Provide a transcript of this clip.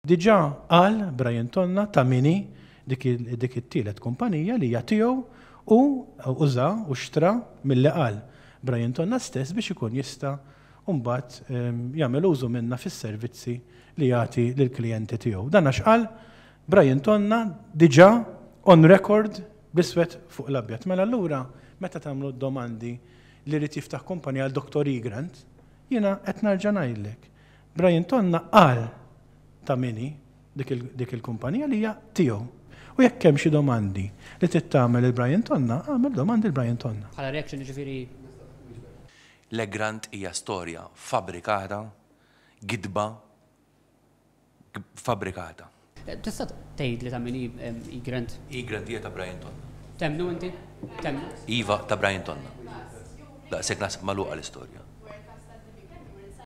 Diġà qal Brian Tonna ta' min hi dik dik it-tielet kumpanija li hija tiegħu u uża u xtra milli qal Brian Tonna stess biex ikun jista' mbagħad jagħmel użu minnha fis-servizzi li jagħti lill-klijenti tiegħu. Dan għax qal Brian Tonna diġà on record bl-iswed fuq l-abjad. Mela allura meta tagħmlu d-domandi li jrid jiftaħ kumpanija għal Dottor Egrant, jiena qed nerġa' ngħidlek. Brian Tonna qal ta' min hi dik il-kumpanija li hija tiegħu. U jekk hemm xi domandi li trid tagħmel lil Brian Tonna, agħmel domandi lil Brian Tonna. Bħala reaction jiġifieri. L-Egrant hija storja fabbrikata, gidba fabbrikata. Tista' tgħidli ta' min hi Egrant? Egrant hija ta' Brian Tonna. Temmnu inti? Temmnu? Iva, ta' Brian Tonna. Daqshekk naħseb magħluqa l-istorja.